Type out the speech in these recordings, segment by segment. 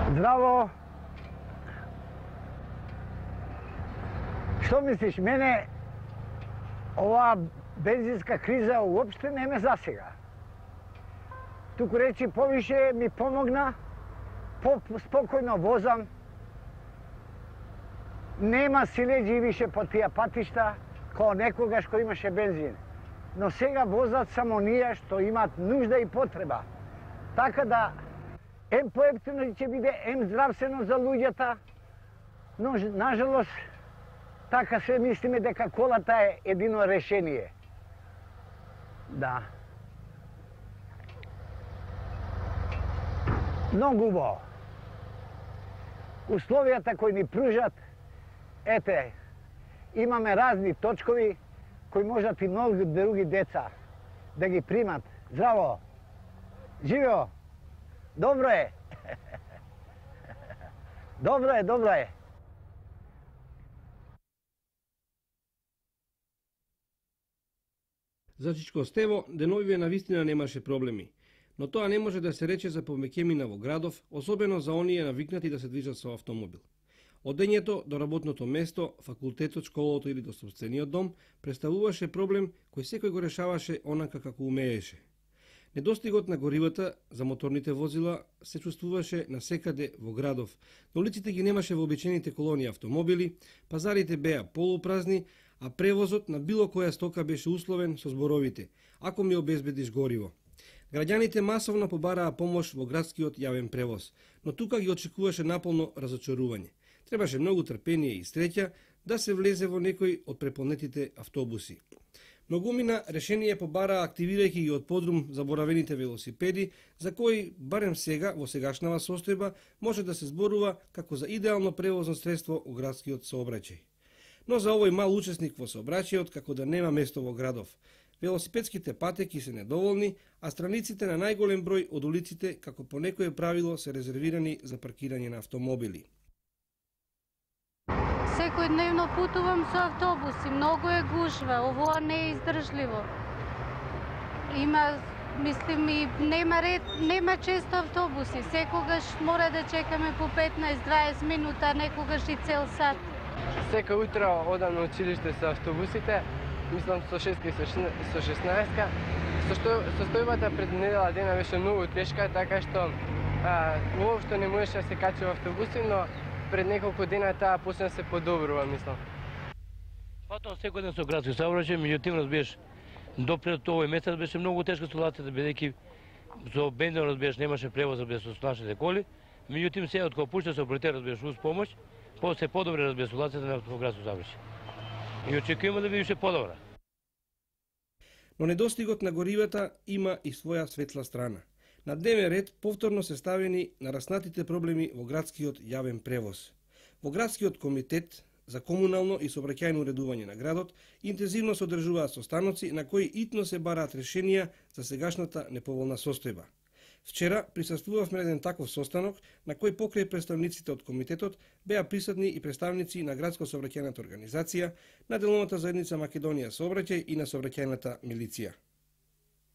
Здраво! Што мислиш, мене оваа бензинска криза уопште не ме засега. Туку речи повише ми помогна, спокојно возам, нема силеđи више по тие патишта, као некогаш кој имаше бензин. Но сега возат само ние што имат нужда и потреба. Така да, ем поевтино ќе биде, ем здравствено за луѓата, но нажалост, така се мислиме дека колата е едино решение. Да. Многу убаво. Условијата кои ни пружат, ете, имаме разни точкови кои можат и многу други деца да ги примат. Здраво! Живео! Добро е! Добро е, добро е! За Чичко Стево, деновиве навистина немаше проблеми. Но тоа не може да се рече за повеќемина во градов, особено за оние навикнати да се движат со автомобил. Од дењето до работното место, факултетот, школото или до собствениот дом представуваше проблем кој секој го решаваше онака како умееше. Недостигот на горивата за моторните возила се чувствуваше насекаде во градов. На улиците ги немаше вообичаените колони автомобили, пазарите беа полупразни, а превозот на било која стока беше условен со зборовите «Ако ми обезбедиш гориво». Граѓаните масовно побараа помош во градскиот јавен превоз, но тука ги очекуваше наполно разочарување. Требаше многу трпение и среќа да се влезе во некој од преполнетите автобуси. Многумина решение побараа активирајќи ги од подрум заборавените велосипеди, за кои, барем сега, во сегашнава состојба, може да се зборува како за идеално превозно средство у градскиот сообраќај. Но за овој мал учесник во сообраќајот како да нема место во градов. Велосипедските патеки се недоволни, а страниците на најголем број од улиците, како по некое правило, се резервирани за паркирање на автомобили. Секојдневно путувам со автобуси, многу е гужва, ово не е издржливо. Мислим, и нема ред, нема често автобуси, секогаш мора да чекаме по 15-20 минута, некогаш и цел сат. Секој утро одам на училиште со автобусите, мислам со 6 и со 16-ка. Состојбата пред недела дена беше многу тешка, така што уопшто не можеше да се качи во автобуси, но пред неколку дена таа почна да се подобрува, мислам. Патувам секој ден со градски сообраќај, меѓутоа разбираш, допред овој месец беше многу тешка ситуацијата, бидејќи со бензин разбираш немаше превоз разбираш со нашите коли, меѓутоа сега од кога пушта се оператер разбираш уз помош, се подобри разбираш ситуацијата на градски сообраќај. И очекуваме да биде уште подобра. Но недостигот на горивата има и своја светла страна. На дневен ред повторно се ставени нараснатите проблеми во градскиот јавен превоз. Во градскиот комитет за комунално и сообраќајно уредување на градот интензивно се одржуваат состаноци на кои итно се бараат решенија за сегашната неповолна состојба. Вчера присуствувавме на еден таков состанок на кој покрај представниците од комитетот беа присутни и представници на градско сообраќајната организација, на деловната заедница Македонија сообраќај и на сообраќајната милиција.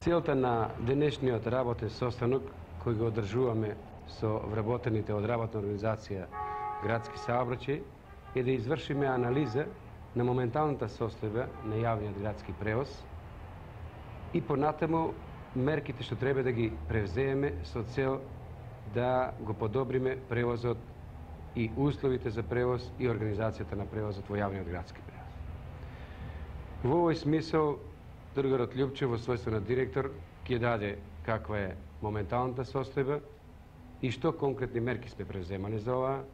Целта на денешниот работен состанок кој го одржуваме со вработените од работна организација Градски сообраќај е да извршиме анализа на моменталната состојба на јавниот градски превоз и понатаму мерките што треба да ги превзееме со цел да го подобриме превозот и условите за превоз и организацијата на превозот во јавниот градски превоз. Во овој смисол, другарот Љупчев во својство на директор ќе даде каква е моменталната состојба и што конкретни мерки сме превземали за ова,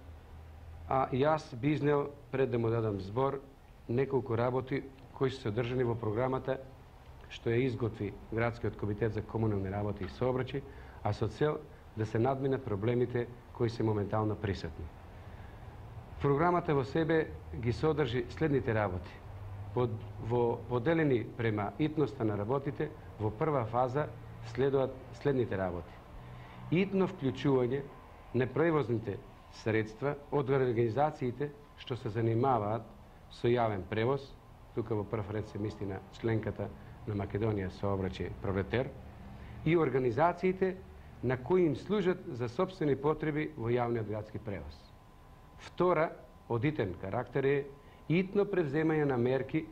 а јас би изнел, пред да му дадам збор, неколку работи кои се одржани во програмата што ја изготви Градскиот комитет за комунални работи и сообраќај, а со цел да се надминат проблемите кои се моментално присутни. Програмата во себе ги содржи следните работи. Поделени према итноста на работите, во прва фаза следуваат следните работи. Итно вклучување на превозните средства од организациите што се занимаваат со јавен превоз, тука во прв ред се мисли на членката на Македонија сообраќај Пролетер, и организациите на кои им служат за собствени потреби во јавниот градски превоз. Втора, од итен карактер е итно превземање на мерки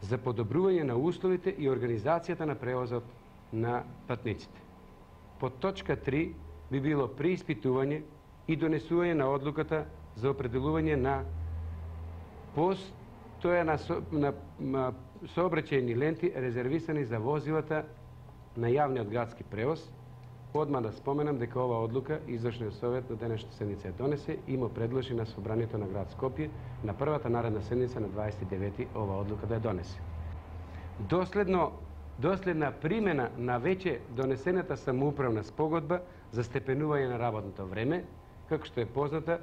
за подобрување на условите и организацијата на превозот на патниците. По точка 3 би било преиспитување и донесување на одлуката за определување на постојана сообраќајни ленти резервисани за возилата на јавниот градски превоз. Одма да споменам дека ова одлука Извршниот совет на денешната седница донесе и му предложи на собранието на град Скопје на првата наредна седница на 29 ова одлука да ја донесе. Доследна примена на веќе донесената самоуправна спогодба за степенување на работното време, како што е позната,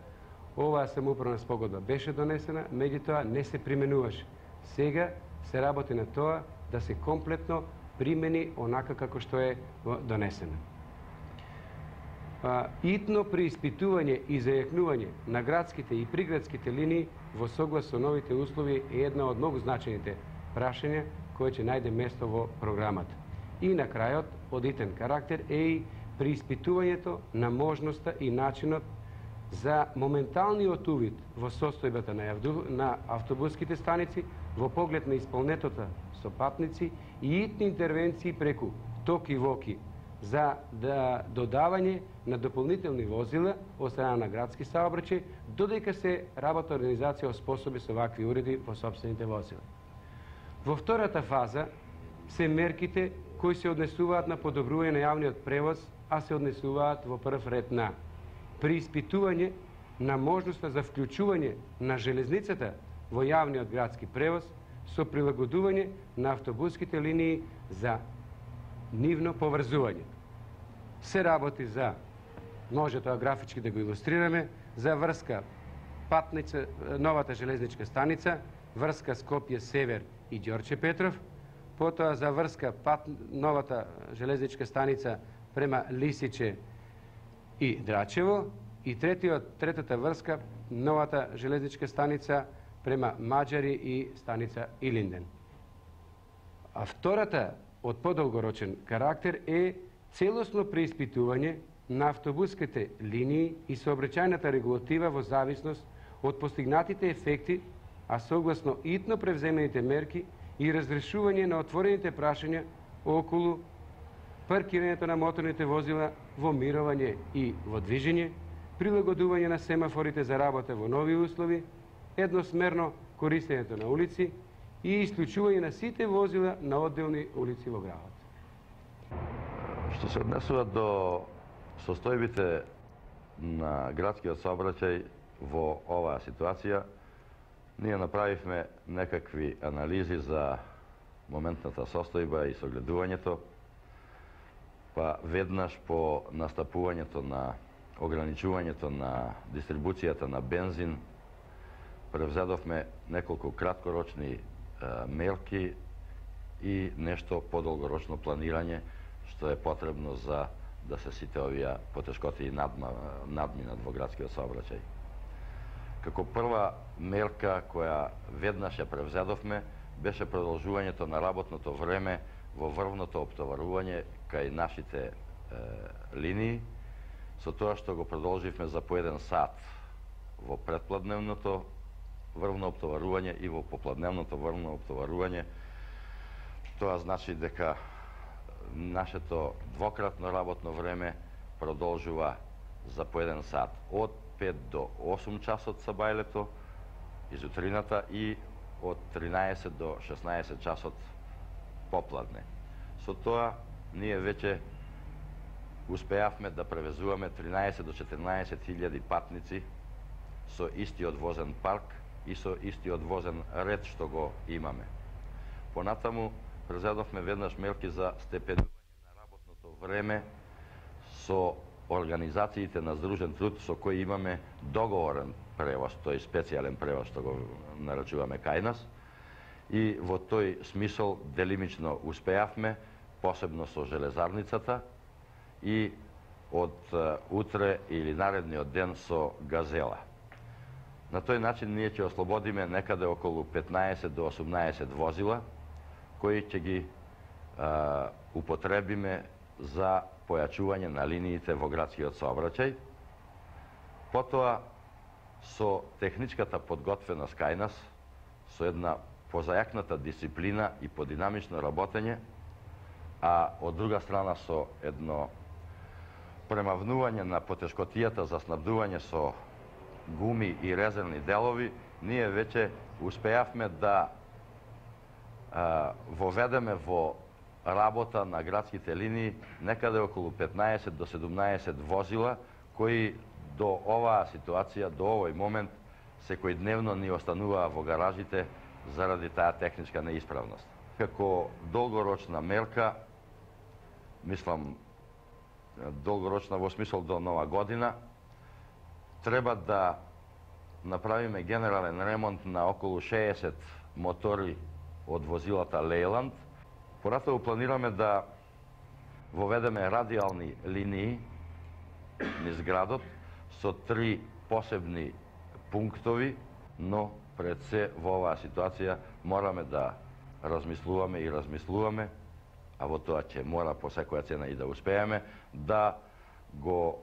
оваа самоуправна спогодба беше донесена, меѓутоа не се применуваше. Сега се работи на тоа да се комплетно примени онака како што е донесена. Итно преиспитување и зајакнување на градските и приградските линии во соглас со новите услови е една од многу значајните прашања кој ќе најде место во програмата. И на крајот, од итен карактер е и преиспитувањето на можноста и начинот за моменталниот увид во состојбата на автобуските станици во поглед на исполнетота со патници и итни интервенции преку токи-воки за додавање на дополнителни возила од страна на градски саобраќај, додека се работна организација оспособи со вакви уреди во собствените возила. Во втората фаза се мерките кои се однесуваат на подобрување на јавниот превоз, а се однесуваат во прв ред на преиспитување на можноста за вклучување на железницата во јавниот градски превоз со прилагодување на автобуските линии за нивно поврзување. Се работи за, може тоа графички да го илустрираме, за врска Патница, новата железничка станица, врска Скопје Север и Ѓорче Петров, потоа за врска новата железничка станица према Лисиче и Драчево и третата врска новата железничка станица према Маđари и станица Илинден. А втората од подолгорочен карактер е целосно преиспитување на автобуските линии и сообраќајната регулатива во зависност од постигнатите ефекти, а согласно итно превземените мерки и разрешување на отворените прашања околу паркирањето на моторните возила во мирување и во движење, прилагодување на семафорите за работа во нови услови, едносмерно користењето на улици и исклучување на сите возила на одделни улици во градот. Што се однесува до состојбите на градскиот сообраќај во оваа ситуација, ние направивме некакви анализи за моментната состојба и согледувањето, па веднаш по настапувањето на ограничувањето на дистрибуцијата на бензин, превзедовме неколку краткорочни мерки и нешто подолгорочно планирање што е потребно за да се сите овие потешкоти надминат во градскиот сообраќај. Како прва мерка која веднаш ја превзедовме беше продолжувањето на работното време во врвното оптоварување кај нашите линии, со тоа што го продолживме за по 1 сат во предпладневното врвно оптоварување и во попладневното врвно оптоварување. Тоа значи дека нашето двократно работно време продолжува за по 1 сат од 5 до 8 часот сабајлето изутрината и од 13 до 16 часот попладне. Со тоа ние веќе успеавме да превезуваме 13 до 14.000 патници со истиот возен парк и со истиот возен ред што го имаме. Понатаму презедовме веднаш мерки за степенување на работното време со организациите на здружен труд со кои имаме договорен превоз, тој специјален превоз што го нарачуваме кај нас. И во тој смисол делимично успеавме, посебно со железарницата и од утре или наредниот ден со Газела. На тој начин ние ќе ослободиме некаде околу 15 до 18 возила кои ќе ги употребиме за појачување на линиите во градскиот сообраќај. Потоа, со техничката подготвеност кај нас, со една позајакната дисциплина и подинамично работење, а од друга страна со едно премавнување на потешкотијата за снабдување со гуми и резервни делови, ние веќе успеавме да воведеме во работа на градските линии некаде околу 15 до 17 возила, кои до оваа ситуација, до овој момент, секојдневно ни остануваа во гаражите заради таа техничка неисправност. Како долгорочна мерка, мислам, долгорочна во смисол до нова година, треба да направиме генерален ремонт на околу 60 мотори од возилата Лейланд. Понатаму планираме да воведеме радиални линии низ градот со 3 посебни пунктови, но пред се во оваа ситуација мораме да размислуваме, а во тоа ќе мора по секоја цена и да успееме, да го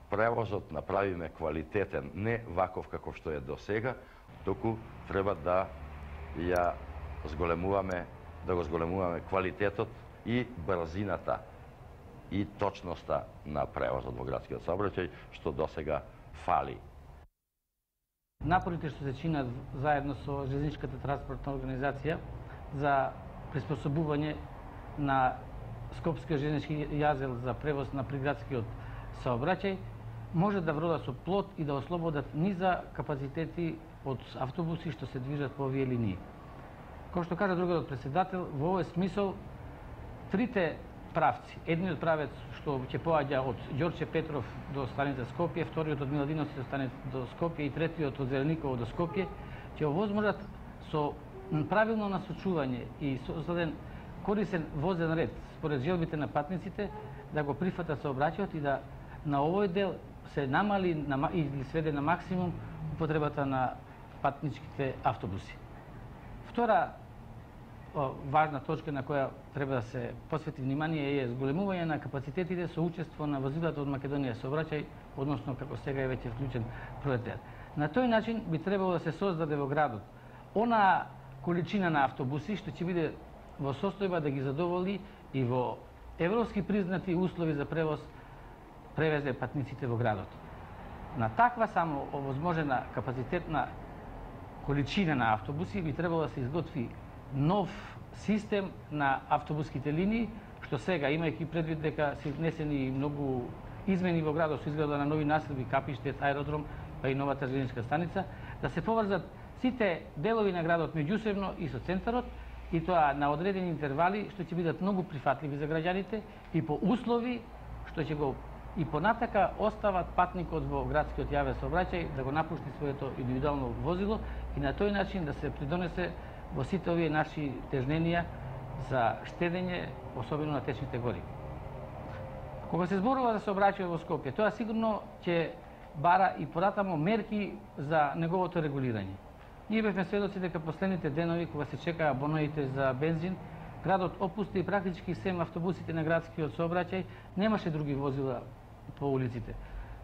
превозот направиме квалитетен, не ваков како што е до сега, туку треба да го зголемуваме квалитетот и брзината и точноста на превозот во градскиот сообраќај, што досега фали. Напорите што се чинат заедно со железничката транспортна организација за приспособување на Скопскиот железнички јазел за превоз на приградскиот сообраќај може да врода со плод и да ослободат низа капацитети од автобуси што се движат по овие линии. Кој што кажа другиот председател, во овој смисол трите правци, едниот правец што ќе поаѓа од Ѓорче Петров до станица Скопје, вториот од Миладиновци до станица до Скопје и третиот од Зелениково до Скопје, ќе овозможат со правилно насочување и создаден корисен возен ред според желбите на патниците да го прифатат сообраќајот и да на овој дел се намали или сведе на максимум употребата на патничките автобуси. Втора важна точка на која треба да се посвети внимание е зголемување на капацитетите со учество на возилата од Македонија сообраќај, односно како сега е веќе вклучен Проетер. На тој начин би требало да се создаде во градот она количина на автобуси што ќе биде во состојба да ги задоволи и во европски признати услови за превоз превезе патниците во градот. На таква само овозможена капацитетна количина на автобуси би требало да се изготви нов систем на автобуските линии, што сега, имајќи предвид дека се внесени многу измени во градот со изграда на нови населби, Капиштет, аеродром, па и новата железничка станица, да се поврзат сите делови на градот меѓусебно и со центарот, и тоа на одредени интервали што ќе бидат многу прифатливи за граѓаните и по услови што ќе го и понатака остават патникот во градскиот јавен сообраќај да го напушти своето индивидуално возило и на тој начин да се придонесе во сите овие наши тежненија за штедење, особено на течните гориви. Кога се зборува за сообраќај во Скопје, тоа сигурно ќе бара и понатамо мерки за неговото регулирање. Ние бевме сведоци дека последните денови, кога се чекаа боноите за бензин, градот опусти и практички сем автобусите на градскиот сообраќај, немаше други возила по улиците.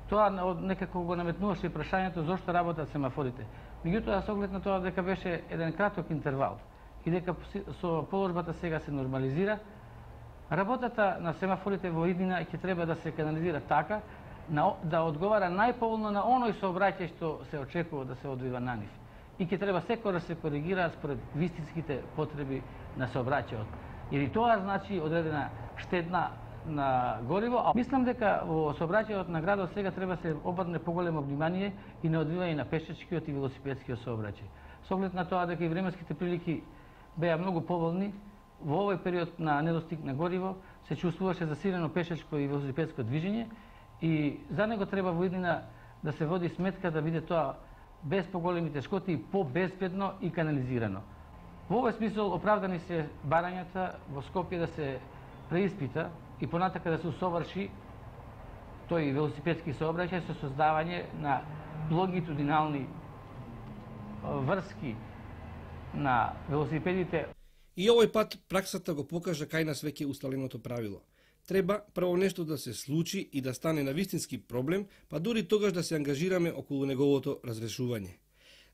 Тоа некако го наметнуваше прашањето зошто работат семафорите. Меѓутоа, со оглед на тоа дека беше еден краток интервал и дека со положбата сега се нормализира, работата на семафорите во иднина ќе треба да се канализира така да одговара најповолно на оној сообраќај што се очекува да се одвива на нив. И ќе треба секој да се коригира според вистинските потреби на сообраќајот. Или тоа значи одредена штедна на гориво. Мислам дека во сообраќајот на градот сега треба се обрне поголемо внимание и на одвивање на пешачкиот и велосипедскиот сообраќај. Со оглед на тоа дека и временските прилики беа многу поволни, во овој период на недостиг на гориво се чувствуваше засилено пешачко и велосипедско движење и за него треба во иднина да се води сметка да биде тоа без поголеми тешкоти и по-безбедно и канализирано. Во овој смисол оправдани се барањата во Скопје да се преиспита и понатака да се усоврши тој велосипедски сообраќај со создавање на лонгитудинални врски на велосипедите. И овој пат праксата го покажа кај нас веќе усталеното правило. Треба прво нешто да се случи и да стане навистински проблем, па дури тогаш да се ангажираме околу неговото разрешување.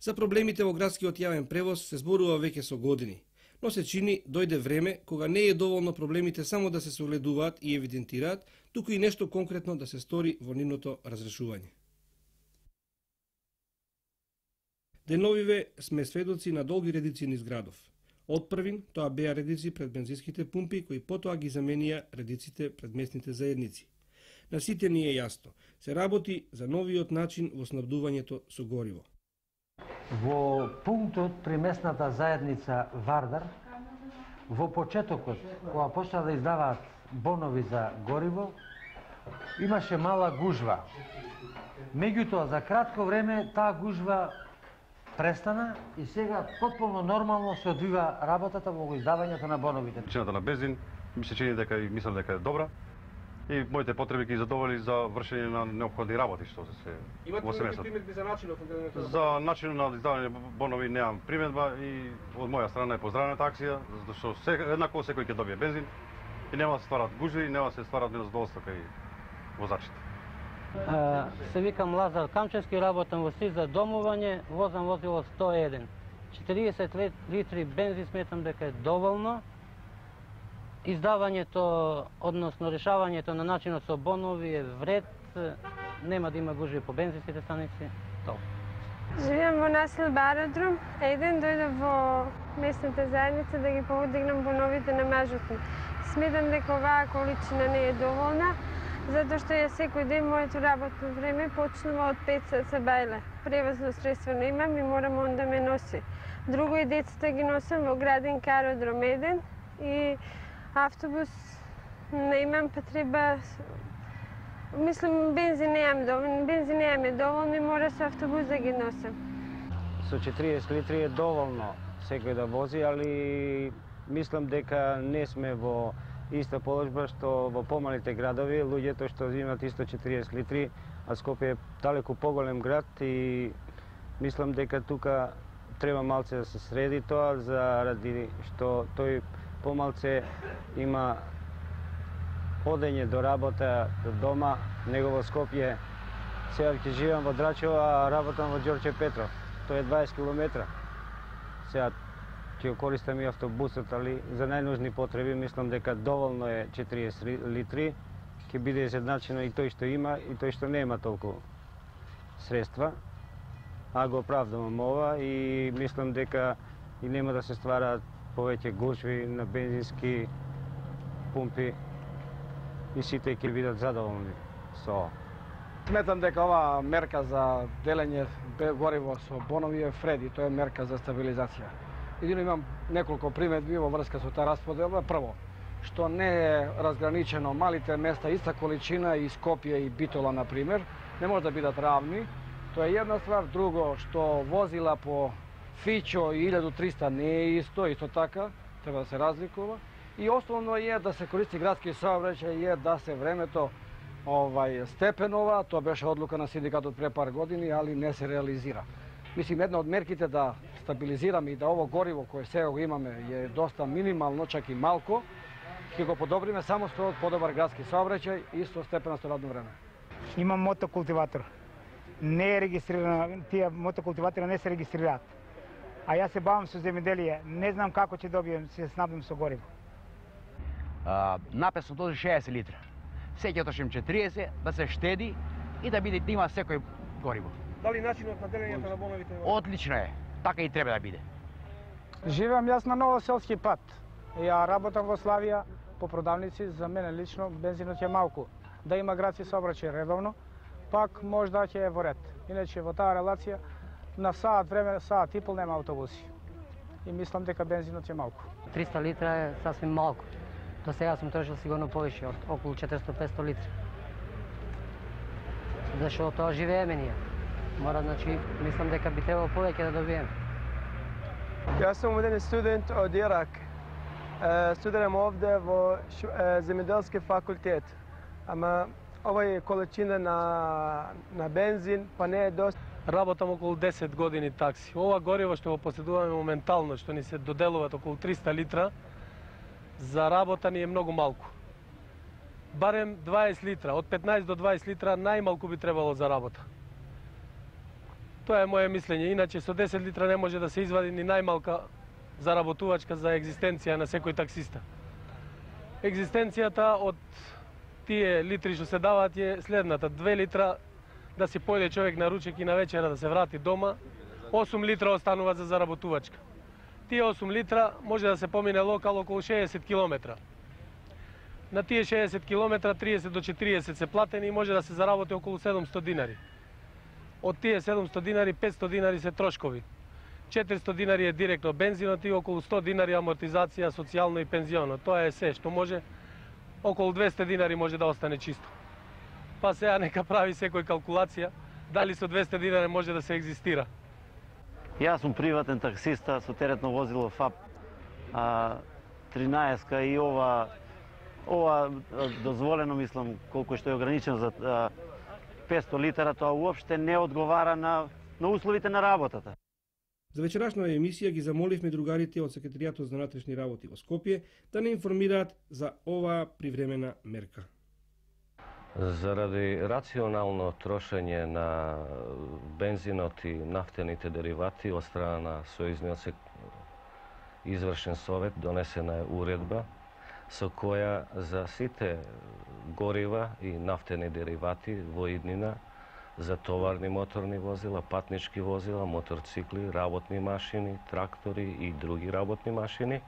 За проблемите во градскиот јавен превоз се зборува веќе со години, но се чини дојде време кога не е доволно проблемите само да се согледуваат и евидентираат, туку и нешто конкретно да се стори во нивното разрешување. Деновиве сме сведоци на долги редици низ градов. Од првин тоа беа редици пред бензинските пумпи кои потоа ги заменија редиците пред местните заедници. На сите ни е јасно, се работи за новиот начин во снабдувањето со гориво. Во пунктот при местната заедница Вардар, во почетокот, кога почна да издаваат бонови за гориво, имаше мала гужва. Меѓутоа, за кратко време таа гужва престана и сега потполно нормално се одвива работата во издавањето на боновите. Цената на бензин ми се чини дека и мислам дека е добра и моите потреби ги задоволи за вршење на неопходни работи што се во семејството. Имате приметби за начинот на издавањето? За начинот на издавање бонови немам приметба и од моја страна е поздравена акција, затоа што еднакво секој ќе добие бензин и нема да се стварат гужви, нема да се стварат незадоволства кај возачите. Се викам Лазар Камчевски, работам во СИЗ за домување, возам возило 101. 40 литри бензин сметам дека е доволно. Издавањето, односно решавањето на начинот со бонови е вред, нема да има гужви по бензинските станици. Живеам во населба Аеродром, еден дојдов во местната заедница да ги поводигнам боновите на мажот. Сметам дека оваа количина не е доволна, затоа што ја секој ден моето работно време почнува од 5 саца бајле. Превозно средство немам и морам он да ме носи. Друго и децата ги носам во градинка Аеродром 1 и автобус немам, па треба... Мислам, бензин немаме доволно и мора со автобус да ги носам. Со 40 литри е доволно секој да вози, али мислам дека не сме во иста положба што во помалите градови, луѓето што имат исто 40 литри, а Скопје е далеку поголем град и мислам дека тука треба малце да се среди тоа, заради што тој помалце има одење до работа, до дома, него во Скопје. Сега ќе живеам во Драчево, а работам во Ѓорче Петров. Тоа е 20 километра. Сега ќе користам и автобусот, али за најнужни потреби мислам дека доволно е 40 литри. Ќе биде изедначено и тој што има и тој што нема толку средства. А го оправдавам ова и мислам дека и нема да се ствараат повеќе гужви на бензински пумпи и сите ќе бидат задоволни со ова. Сметам дека оваа мерка за делење гориво со бонови е вреди, тоа е мерка за стабилизација. Едино имам неколку приметби во врска со таа расподелба. Прво, што не е разграничено малите места, иста количина и Скопје и Битола, например, не може да бидат равни. Тоа е една ствар. Друго, што возила по Фичо и 1300 не е исто така, треба да се разликува. И основно е да се користи градски сообраќај, е да се времето степенова, тоа беше одлука на синдикатот пред пар години, али не се реализира. Мислим, една од мерките да стабилизираме и да ово гориво кое сега го имаме е доста минимално, чак и малко, ќе го подобриме само со подобар градски сообраќај и со степеното радно време. Имам мотокултиватор. Не е регистрирано, тие мотокултиватори не се регистрираат. А јас се бавам со земјоделие, не знам како ќе добием, се снабдим со гориво. Написан този 60 литра. Секој трошим 40, да се штеди и да има секој гориво. Дали начинот на делењето на боновите? Одлично е. Така и треба да биде. Живеам јас на Новоселски пат. Ја работам во Славија по продавници, за мене лично бензинот е малку. Да има градски сообраќај редовно, пак можда ќе е во ред. Иначе во таа релација на саат време, саат и пол нема автобуси. И мислам дека бензинот е малку. 300 литра е сасвим малку. До сега сум трошил сигурно повише, од околу 400-500 литри. Зашто тоа живееме ние. Мора, значи, мислам дека би требало повеќе да добиеме. Јас сум еден студент од Ирак. Студирам овде во земјоделски факултет. Ама овој количина на бензин па не е доста. Работам околу 10 години такси. Ова гориво што го поседуваме моментално, што ни се доделуваат околу 300 литра, за работа ни е многу малку. барем 20 литра, од 15 до 20 литра најмалку би требало за работа. Тоа е моje мислење, иначе со 10 литра не може да се извади ни најмалка заработувачка за екзистенција на секој таксиста. Екзистенцијата од тие литри што се даваат е следната: 2 литра да си појде човек на ручек и на вечера да се врати дома, 8 литра останува за заработувачка. Тие 8 литра може да се помине локал околу 60 километра. На тие 60 километра 30 до 40 се платени и може да се заработи околу 700 динари. Од тие 700 динари, 500 динари се трошкови. 400 динари е директно бензинот и околу 100 динари амортизација, социјално и пензионо. Тоа е се што може. Околу 200 динари може да остане чисто. Па сега нека прави секој калкулација дали со 200 динари може да се екзистира. Јас сум приватен таксиста со теретно возило ФАП 13 и ова дозволено, мислам, колку што е ограничено за 500 литра, тоа уопште не одговара на условите на работата. За вечерашна емисија ги замоливме другарите од Секретаријатот за внатрешни работи во Скопје да не информираат за оваа привремена мерка. Заради рационално трошење на бензинот и нафтените деривати од страна на Сојузниот извршен совет донесена е уредба со која за сите горива и нафтени деривати во иднина за товарни моторни возила, патнички возила, моторцикли, работни машини, трактори и други работни машини,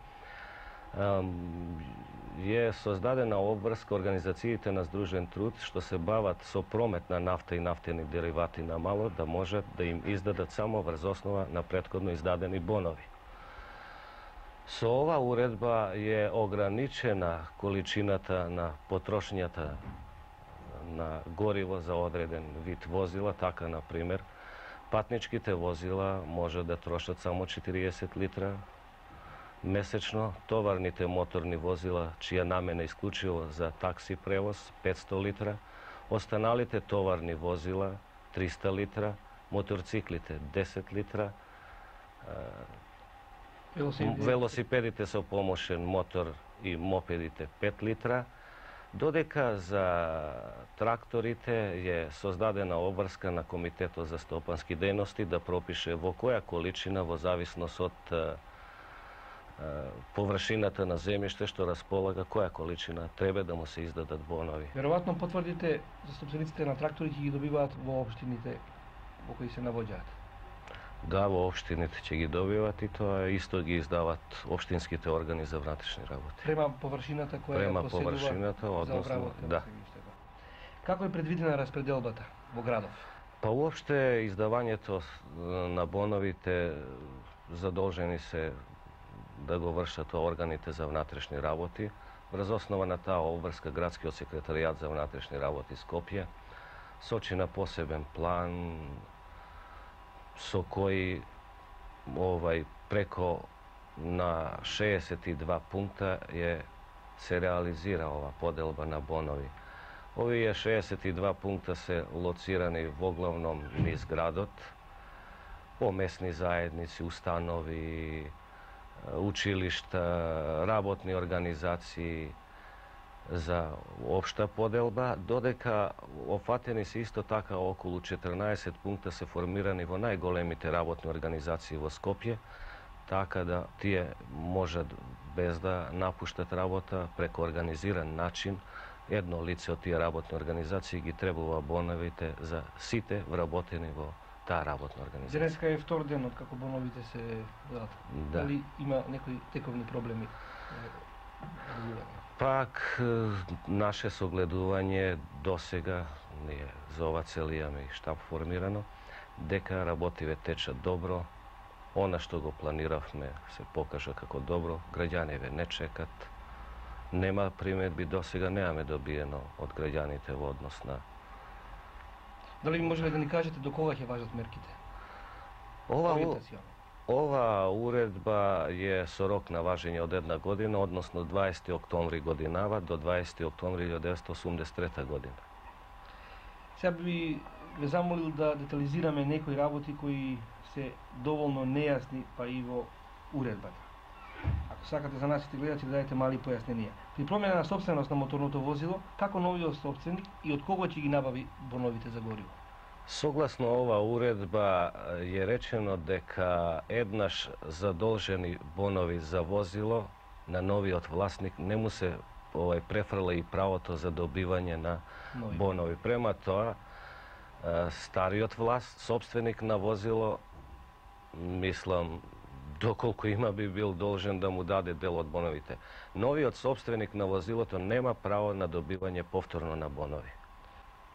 е создадена обврска организациите на Сдружен труд што се бават со промет на нафта и нафтени деривати на мало да можат да им издадат само врз основа на претходно издадени бонови. Со ова уредба е ограничена количината на потрошњата на гориво за одреден вид возила, така, например, патничките возила може да трошат само 40 литра месечно, товарните моторни возила, чија намена е исклучиво за такси превоз, 500 литра, останалите товарни возила, 300 литра, моторциклите, 10 литра, велосипедите со помошен мотор и мопедите, 5 литра, додека за тракторите е создадена обврска на Комитетот за стопански дејности да пропише во која количина, во зависност од површината на земјиште што располага, која количина треба да му се издадат бонови. Веројатно потврдите за собствениците на трактори ќе ги добиваат во општините во кои се навоѓаат. Да, во општините ќе ги добиват и тоа исто ги издават општинските органи за внатрешни работи. Према површината која поседува за обработка на земјиштето. Како е предвидена распределбата во градов? Па уопште издавањето на боновите задолжени се да го вршат органите за внатрешни работи. Врз основа на таа обврска Градскиот секретаријат за внатрешни работи Скопје сочи на посебен план со кој преко на 62 пункта се реализира ова поделба на бонови. Овие 62 пункта се лоцирани воглавном низ градот, по местни заедници, установи, училишта, работни организации за општа поделба, додека офатени се исто така околу 14 пункта се формирани во најголемите работни организации во Скопје, така да тие можат без да напуштат работа преку организиран начин. Едно лице од тие работни организации ги требува боновите за сите вработени во таа работна организација. Денеска е втор ден од како боновите се дадат. Да. Дали има некои тековни проблеми? Пак, наше согледување досега, ние за ова цел имаме и штаб формирано, дека работиве течат добро, она што го планиравме се покажа како добро, граѓаниве не чекат, нема приметби, досега немаме добиено од граѓаните во однос на... Дали можеле да ни кажете до кога ќе важат мерките? Ова уредба е со рок на важење од 1 година, односно 20. октомври годинава до 20. октомври 1983 година. Сега би ве замолил да детализираме некои работи кои се доволно нејасни, па и во уредбата. Ако сакате за нашите гледачи да дадете мали појасненија. При промена на собственост на моторното возило, како новиот собственик и од кого ќе ги набави боновите за гориво? Согласно ова уредба е речено дека еднаш задолжени бонови за возило на новиот власник не му се префрла и правото за добивање на бонови. Према тоа, стариот собственик на возило, мислам, доколку има би бил должен да му даде дел од боновите. Новиот собственик на возилото нема право на добивање повторно на бонови.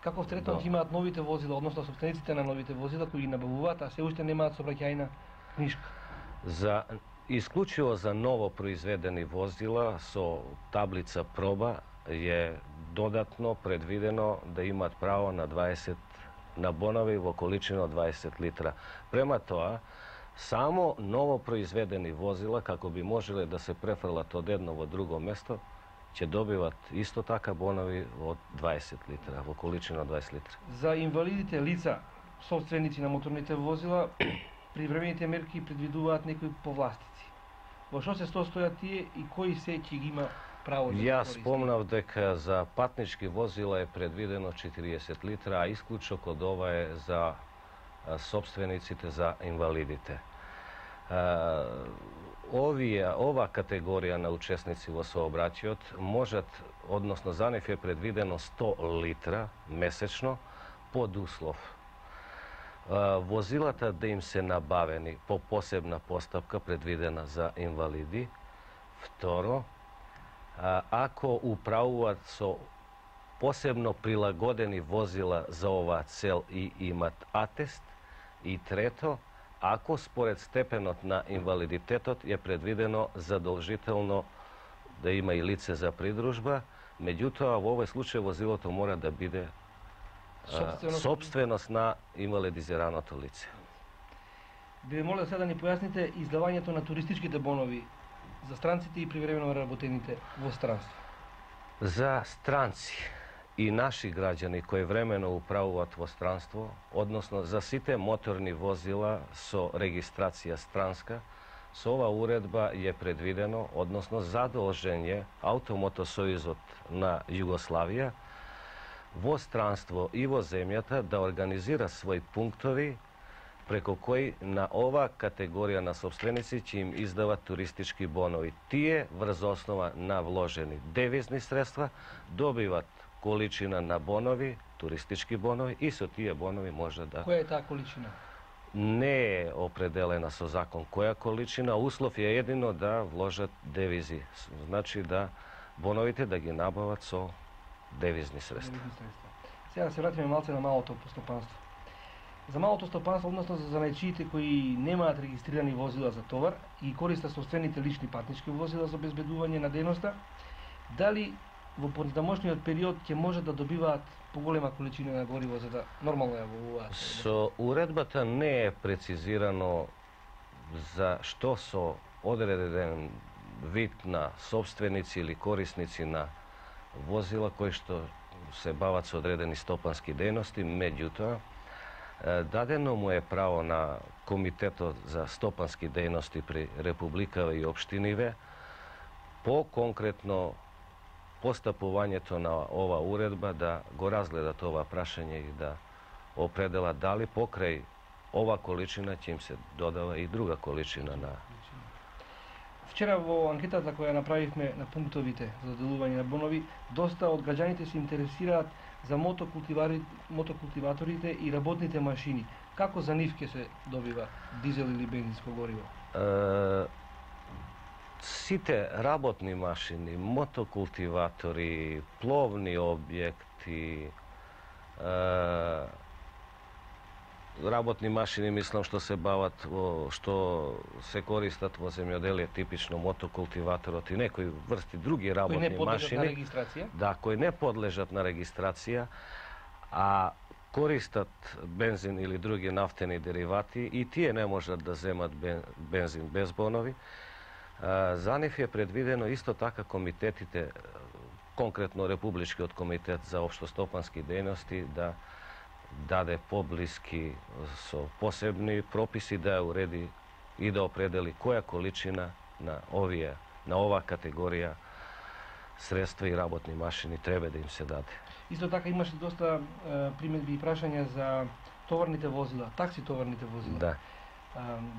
Каков третмент имаат новите возила, односно собствениците на новите возила кои ги набавуваат, а се уште немаат сообраќајна книжка? Исклучиво за ново произведени возила со таблица проба е додатно предвидено да имаат право на бонови во количина од 20 литра. Према тоа, само ново произведени возила, како би можеле да се префрлат од едно во друго место, ќе добиват исто така бонови од 20 литра, во количина од 20 литра. За инвалидите лица, собственици на моторните возила, привремените мерки предвидуваат некои повластици. Во што се состојат тие и кои се ќе ги има право да се Јас користи? спомнав дека за патнички возила е предвидено 40 литра, а исклучок од ова е за собствениците, за инвалидите. Ова категорија на учесници во сообраќајот можат, односно за нив е предвидено 100 литра месечно под услов возилата да им се набавени по посебна постапка предвидена за инвалиди. Второ, ако управуваат со посебно прилагодени возила за оваа цел и имат атест. И трето, ако според степенот на инвалидитетот е предвидено задолжително да има и лице за придружба, меѓутоа во овој случај возилото мора да биде собственост на инвалидизираното лице. Би ве молел сега да ни појасните издавањето на туристичките бонови за странците и привремено работените во странство. За странци и наши граѓани кои времено управуваат во странство, односно за сите моторни возила со регистрација странска, со ова уредба е предвидено, односно задолжен Автомотосојузот на Југославија во странство и во земјата да организира своји пунктови преко кои на ова категорија на собственици ќе им издават туристички бонови. Тие врз основа на вложени девизни средства добиват количина на бонови, туристички бонови и со тие бонови може да... Која е таа количина? Не е определена со закон која количина, услов е едино да вложат девизи. Значи да боновите да ги набават со девизни средства. Сега да се вратиме малце на малото стопанство. За малото стопанство, односно за занајчиите кои немаат регистрирани возила за товар и користат собствените лични патнички возила за обезбедување на дејноста, дали во потамошниот период ќе може да добиваат поголема количина на гориво за да нормално ја воуваат? Со уредбата не е прецизирано за што со одреден вид на собственици или корисници на возила кои што се бават со одредени стопански дејности, меѓутоа дадено му е право на Комитетот за стопански дејности при Републикава и општиниве по конкретно постапувањето на ова уредба да го разгледат ова прашање и да определат дали покрај ова количина ќе им се додава и друга количина на... Вчера во анкетата која направивме на пунктовите за доделување на бонови, доста од граѓаните се интересираат за мотокултиваторите и работните машини. Како за нив ќе се добива дизел или бензинско гориво? Сите работни машини, мотокултиватори, пловни објекти, работни машини, мислам, што се бават, што се користат во земјоделие, типично мотокултиваторот и некои врсти други работни машини, кои не подлежат на регистрација, а користат бензин или други нафтени деривати и тие не можат да земат бензин без бонови. За нив е предвидено исто така комитетите, конкретно Републичкиот комитет за општостопански дејности, да даде поблиски со посебни прописи да ја уреди и да определи која количина на оваа категорија средства и работни машини треба да им се даде. Исто така имаше доста примедби и прашања за товарните возила, такси товарните возила. Да.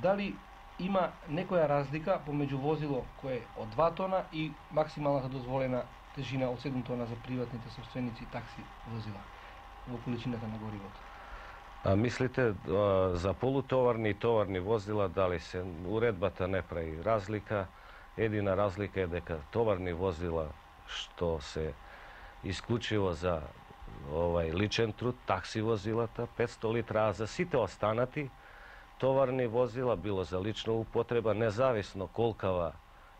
Дали има некоја разлика помеѓу возило кое е од 2 тона и максималната дозволена тежина од 7 тона за приватните собственици такси возила во количината на горивото? Мислите за полутоварни и товарни возила дали се уредбата не прави разлика? Едина разлика е дека товарни возила што се исклучиво за личен труд, такси возилата 500 литра, а за сите останати товарни возила, било за лична употреба, независно колкава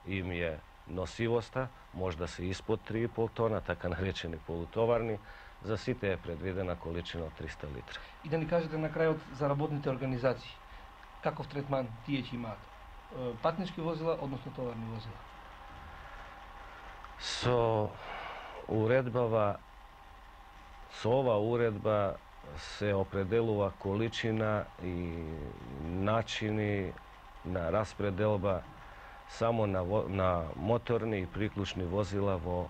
им е носивоста, може да се испод 3,5 тона, така наречени полутоварни, за сите е предвидена количина од 300 литра. И да ни кажете на крајот за работните организации, каков третман тие ќе имаат? Патнички возила, односно товарни возила? Со ова уредба се определува количина и начини на распределба само на моторни и приклучни возила во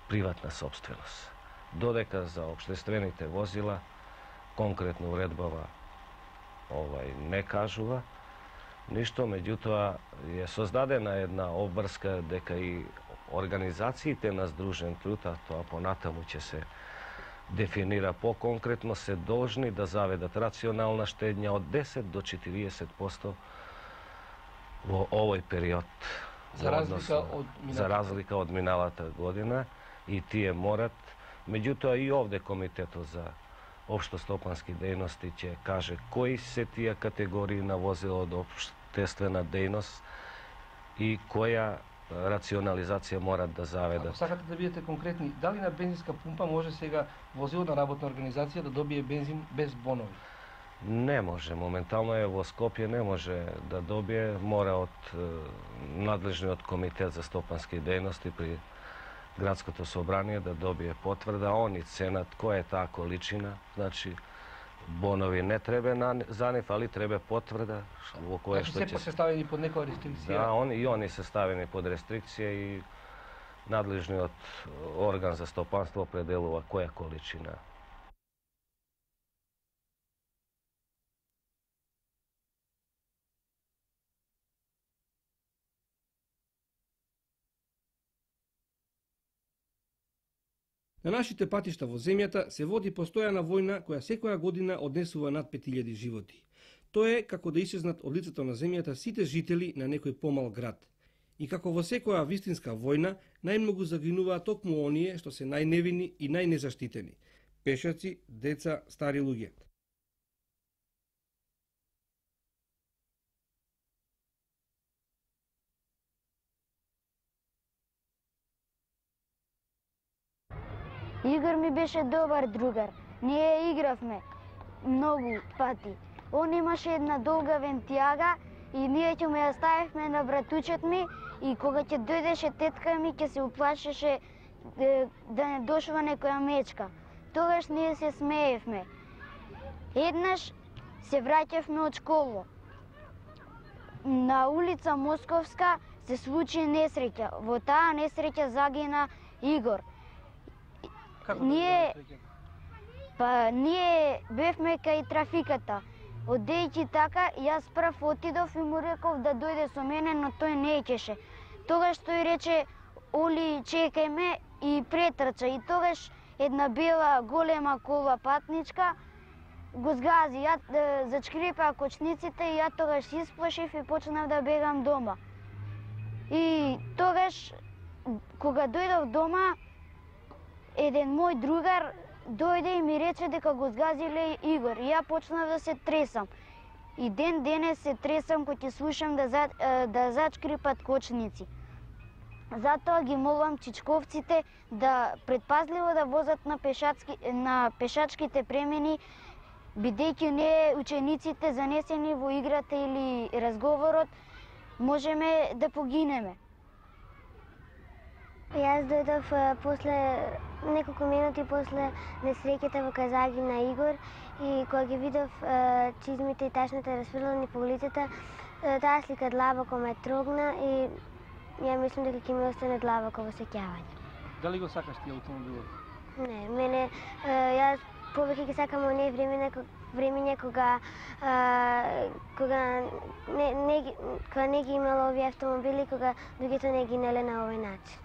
приватна собственост. Додека за општествените возила, конкретно уредбава не кажува ништо, меѓутоа е создадена една обврска дека и организациите на Сдружен труд, а тоа понатаму ќе се дефинира по-конкретно, се должни да заведат рационална штедња од 10 до 40% во овој период. За разлика од миналата година, и тие морат. Меѓутоа и овде Комитетот за општостопански дејности ќе каже кои се тие категории на возила од општествена дејност и која рационализација морат да заведат. Ако сакате да бидете конкретни, дали на бензинска пумпа може сега возило на работна организација да добие бензин без бонови? Не може. Моментално е во Скопје не може да добие, мора од надлежниот комитет за стопански дејности при градското собрание да добие потврда, они ценат која е таа количина, значи бонови не треба за нив, али треба потврда во која што ќе се ставени под некоја рестрикција. Да, они се ставени под рестрикција и надлежниот орган за стопанство определува која количина. На нашите патишта во земјата се води постојана војна која секоја година однесува над 5000 животи. Тоа е како да исчезнат од лицето на земјата сите жители на некој помал град. И како во секоја вистинска војна, најмногу загинуваат токму оние што се најневини и најнезаштитени – пешаци, деца, стари луѓе. Игор ми беше добар другар. Ние игравме многу пати. Он имаше една долга вентијага и ние ќе ме ја ставивме на братучет ми и кога ќе дојдеше тетка ми ќе се уплашеше да не дошва некоја мечка. Тогаш ние се смеевме. Еднаш се враќавме од школа. На улица Московска се случи несреќа. Во таа несреќа загина Игор. Ние бевме кај трафиката. Одејќи така, јас прв отидов и му реков да дојде со мене, но тој не икеше. Тогаш тој рече, Оли, чекај ме и претрча. И тогаш една бела голема кола патничка го згази. Ја зачкрипа кочниците и ја тогаш исплашив и почнав да бегам дома. И тогаш, кога дојдов дома, еден мој другар дојде и ми рече дека го згазиле Игор. И ја почнав да се тресам. И ден денес се тресам кога ќе слушам да зачкрипат кочници. Затоа ги молам чичковците да предпазливо да возат на пешачките премини, бидејќи не учениците занесени во играта или разговорот можеме да погинеме. Јас дојдов после неколку минути после несреќата во Казаги на Игор и кога ги видов чизмите и ташните расфрлани по улицата, таа слика длабоко ме трогна и ја мислам дека ќе ми остане длабоко во сеќавање. Дали го сакаш ти автомобилот? Не, мене јас повеќе ги сакам оние времења кога не ги имало овие автомобили, кога луѓето не ги неле на овој начин.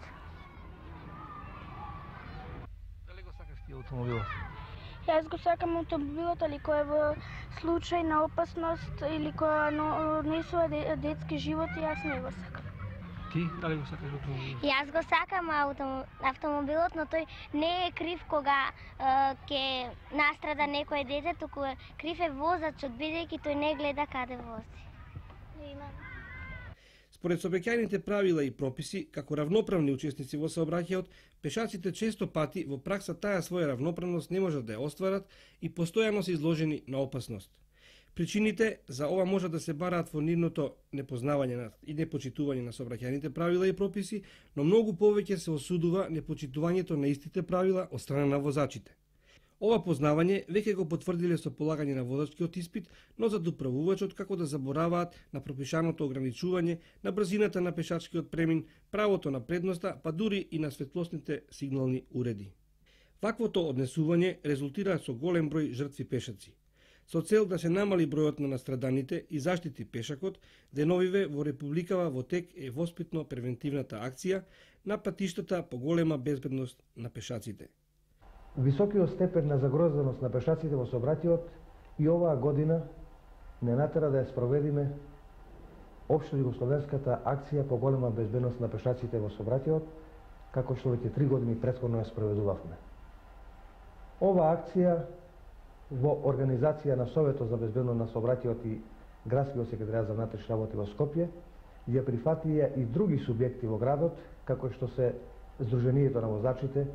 Дали го сакаш ти автомобилот? Јас го сакам автомобилот, али кој е во случај на опасност или која несува детски животи, јас не го сакам. Ти дали го сакаш автомобилот? Јас го сакам автомобилот, но тој не е крив кога ќе настрада некој дете, туку крив е возачот, бидејќи тој не гледа каде вози. Според сообраќајните правила и прописи, како равноправни учесници во сообраќајот, пешаците често пати во пракса таа своја равноправност не можат да ја остварат и постојано се изложени на опасност. Причините за ова може да се бараат во нивното непознавање и непочитување на сообраќајните правила и прописи, но многу повеќе се осудува непочитувањето на истите правила од страна на возачите. Ова познавање веќе го потврдиле со полагање на возачкиот испит, но за доправувачот како да забораваат на пропишаното ограничување, на брзината на пешачкиот премин, правото на предноста, па дури и на светлосните сигнални уреди. Ваквото однесување резултира со голем број жртви пешаци. Со цел да се намали бројот на настраданите и заштити пешакот, деновиве во Републикава во тек е воспитно-превентивната акција на патиштата по голема безбедност на пешаците. Високиот степен на загрозеност на пешаците во сообраќајот и оваа година не натера да ја спроведиме општо југословенската акција по голема безбедност на пешаците во сообраќајот, како што веќе 3 години претходно ја спроведувавме. Оваа акција во организација на Советот за безбедност на сообраќајот и Градскиот секретаријат за внатрешни работи во Скопје ја прифатија и други субјекти во градот, како што се Сдруженијето на возачите,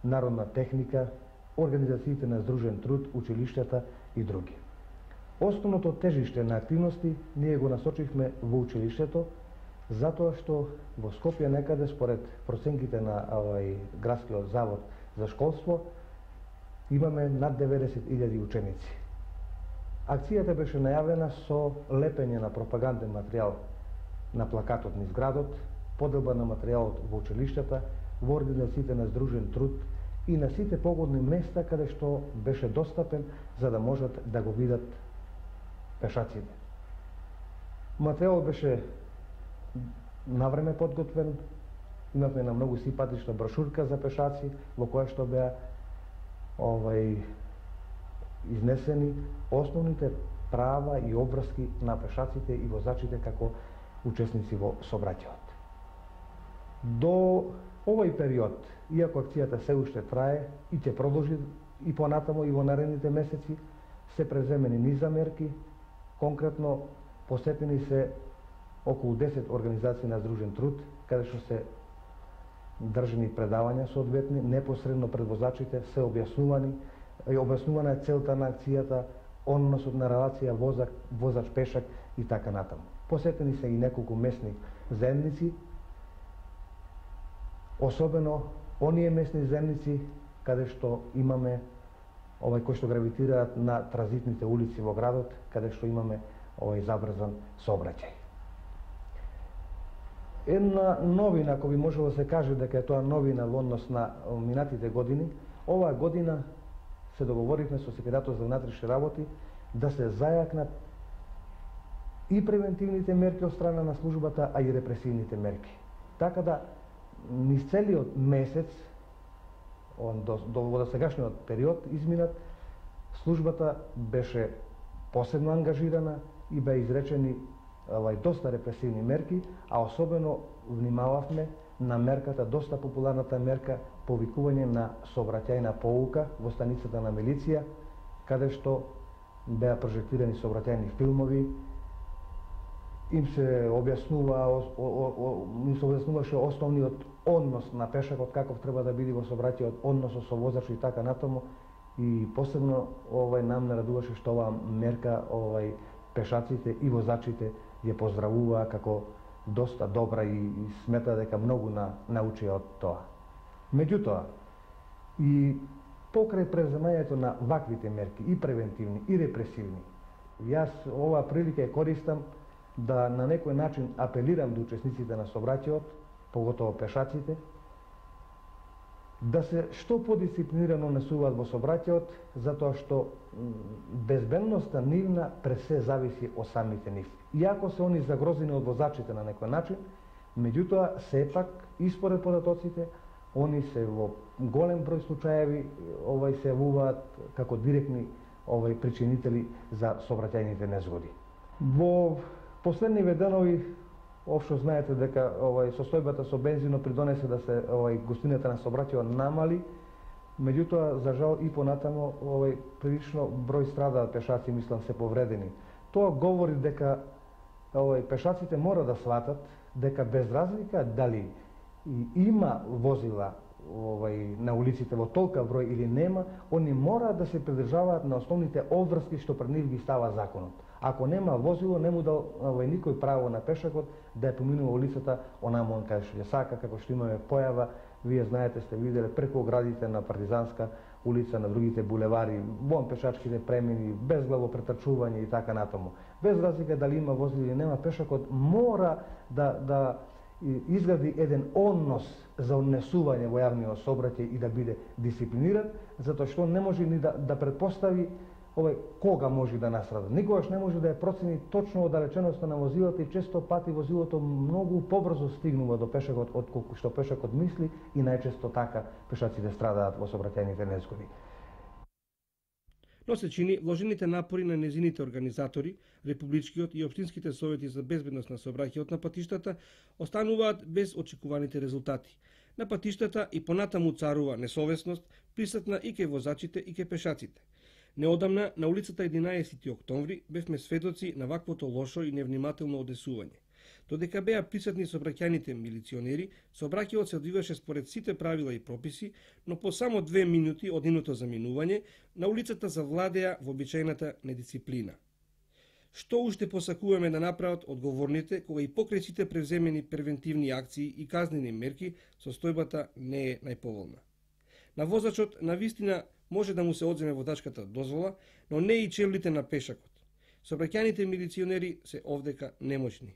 Народна техника, организациите на Здружен труд, училиштата и други. Основното тежиште на активности ние го насочихме во училиштето, затоа што во Скопје некаде според проценките на Градскиот завод за школство имаме над 90.000 ученици. Акцијата беше најавена со лепење на пропаганден материјал на плакатот низ градот, поделба на материјалот во училиштата, во организациите на Здружен труд и на сите погодни места каде што беше достапен за да можат да го видат пешаците. Материјалот беше навреме подготвен, имавме на многу симпатична брошурка за пешаци во која што беа изнесени основните права и обврски на пешаците и возачите како учесници во сообраќајот. До овој период, иако акцијата се уште трае и ќе продолжи и понатамо и во наредните месеци, се преземени низа мерки, конкретно посетени се околу 10 организации на Здружен труд, каде што се држани предавања соодветни, непосредно пред возачите се објаснувана е целта на акцијата, односот на релација возач-пешак и така натаму. Посетени се и неколку местни заедници, особено оние местни заедници каде што имаме кои што гравитираат на транзитните улици во градот, каде што имаме забрзан сообраќај. Една новина, ако би можело да се каже дека е тоа новина во однос на минатите години, оваа година се договоривме со Секретаријатот за внатрешни работи да се зајакнат и превентивните мерки од страна на службата, а и репресивните мерки. Така да низ целиот месец, до сегашниот период изминат, службата беше посебно ангажирана и беа изречени доста репресивни мерки, а особено внимававме на мерката, доста популарната мерка повикување на сообраќајна поука во станицата на милиција, каде што беа прожектирани сообраќајни филмови, им се објаснуваше основниот однос на пешакот, каков треба да биде во сообраќајот, односот со возачот и така натаму, и посебно нам не радуваше што оваа мерка пешаците и возачите ја поздравуваа како доста добра и смета дека многу научија од тоа. Меѓутоа, и покрај преземањето на ваквите мерки, и превентивни, и репресивни, јас оваа прилика ја користам да на некој начин апелирам до учесниците на сообраќајот поготово пешаците, да се што подисциплинирано несуваат во сообраќајот, затоа што безбедноста нивна пред се зависи од самите нив. Иако се они загрозени од возачите на некој начин, меѓутоа сепак и според податоците они се во голем број случаеви се јавуваат како директни причинители за сообраќајните незгоди. Во последниве денови општо знаете дека состојбата со бензинот придонесе да се густината на сообраќајот намали, меѓутоа за жал и понатамо прилично број страдаат пешаци, мислам се повредени. Тоа говори дека пешаците мора да сватат дека без разлика дали има возила на улиците во толка број или нема, они мора да се придржаваат на основните обврски што пред нив ги става законот. Ако нема возило, не му дал никој право на пешакот да ја поминува улицата онаму каде што ја сака, како што имаме појава, вие знаете, сте виделе преку оградите на Партизанска улица, на другите булевари, вон пешачките премини, безглаво претрчување и така натаму. Без разлика дали има возило или нема, пешакот мора да изгради еден однос за однесување во јавниот сообраќај и да биде дисциплиниран, затоа што не може ни да предпостави кога може да настрада. Никогаш не може да ја процени точно оддалеченоста на возилото и често пати возилото многу побрзо стигнува до пешакот од колку што пешакот мисли и најчесто така пешаците страдаат во сообраќајните незгоди. Но се чини вложените напори на незините организатори, републичкиот и општинските совети за безбедност на сообраќајот на патиштата остануваат без очекуваните резултати. На патиштата и понатаму царува несовесност, присутна и кај возачите и кај пешаците. Неодамна, на улицата 11 октомври, бевме сведоци на ваквото лошо и невнимателно однесување. Додека беа присутни сообраќајните милиционери, сообраќајот се одвиваше според сите правила и прописи, но по само 2 минути од нивното заминување, на улицата завладеа вообичајната недисциплина. Што уште посакуваме да направат одговорните, кога и покрај сите превземени превентивни акции и казнени мерки, состојбата не е најповолна. На возачот, навистина, може да му се одземе водачката дозвола, но не и чевлите на пешакот. Сообраќајните милиционери се овдека немоćни.